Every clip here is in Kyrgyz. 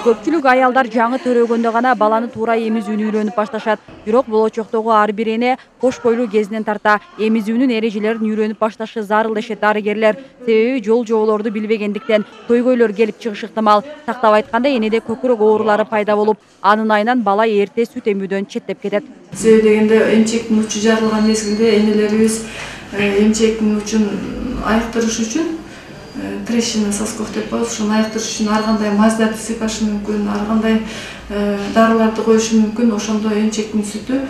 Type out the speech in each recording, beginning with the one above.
Көпчүлүк аялдар жаңы төрөгөндө гана баланы туура эмизүүнү үйрөнүп башташат. Бирок болочоктогу ар бир эне кош бойлуу кезинен тарта эмизүүнүн эрежелерин үйрөнүп башташы зарыл дешет дарыгерлер. Себеби жол жоболорду билбегендиктен көйгөйлөр келип чыгышы ыктымал. Тактап айтканда энеде көкүрөк оорулары пайда болуп, анын айынан бала эрте сүт эмүүдөн четтеп кетет. Себеби дегенде эмчектин учу жарылган мезгилде энелерибиз эмчектин учун айыктырыш үчүн трещина сосков деп коебуз. Ошону айыктырыш үчүн ар кандай маздарды сыйпашы мүмкүн, ар кандай дарыларды коюшу мүмкүн. Ошондо эмчектин сүтү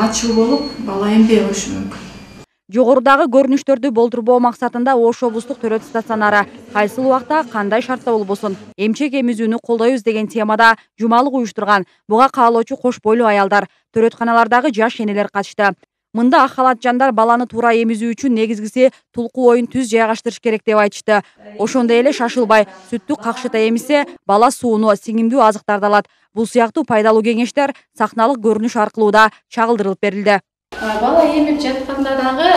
ачуу болуп, бала эмбей коюшу мүмкүн. Жогорудагы көрүнүштөрдү болтурбоо максатында Ош облустук төрөт стационары кайсыл убакта кандай шартта болбосун эмчек эмизүүнү колдойбуз деген темада жумалык уюштурган. Буга каалоочу кош бойлуу аялдар, төрөтканалардагы жаш энелер катышты. Мында ак халатчандар баланы туура эмизүү үчүн негизгиси тулку оюн түз жайгаштырыш керек деп айтышты. Ошондой эле шашылбай, сүттү какшыта эмизсе, бала сууну, сиңимдүү азыктарды алат. Бул сыяктуу пайдалуу кеңештер сахналык көрүнүш аркылуу да чагылдырылып берилди. Бала эмип жатканда дагы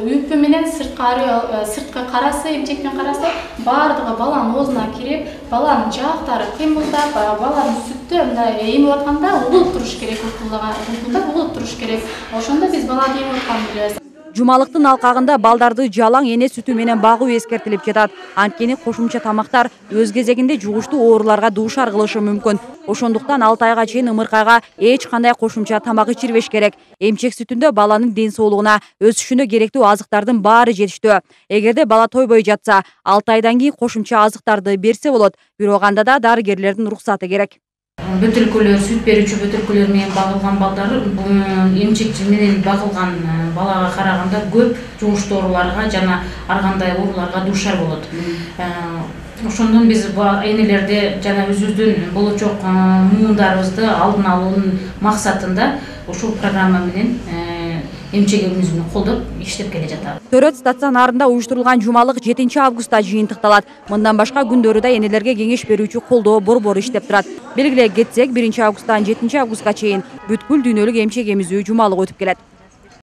үппү менен сырткы карасы, эмчектин карасы баардыгы баланын оозуна кирип, баланын жаактары кыймылдап, баланын сүттү мындай эмип атканда угулуп туруш керек, угулуп туруш керек. Ошондо биз баланы эмип атканын билебиз. Жумалыктын алкагында балдарды жалаң эне сүтү менен багуу эскертилип жатат. Анткени кошумча тамактар өз кезегинде жугуштуу ооруларга дуушар кылышы мүмкүн. Ошондуктан 6 айга чейин ымыркайга эч кандай кошумча тамак ичирбеш керек. Эмчек сүтүндө баланын ден соолугуна, өсүшүнө керектүү азыктардын баары жетиштүү. Эгерде бала тойбой жатса, 6 айдан кийин кошумча азыктарды берсе болот. Бирок анда да дарыгерлердин уруксаты керек. Бөтөлкөлөр, сүт берүүчү бөтөлкөлөр менен багылган балдар эмчек менен багылган балага караганда көп жугуштуу ооруларга жана ар кандай ооруларга дуушар болот. Ошондон биз энелерди жана өзүбүздүн болочок муундарыбызды алдын алуунун максатында ушул программа менен эмчек эмизүүнү колдоп иштеп келе жатабыз. Төрөт стационарында уюштурулган жумалык 7 августта жыйынтыкталат. Мындан башка күндөрү да энелерге кеңеш берүүчү колдоо борбору иштеп турат. Белгилей кетсек, 1 августтан 7 августка чейин бүткүл дүйнөлүк эмчек эмизүү жумалык өтүп келет.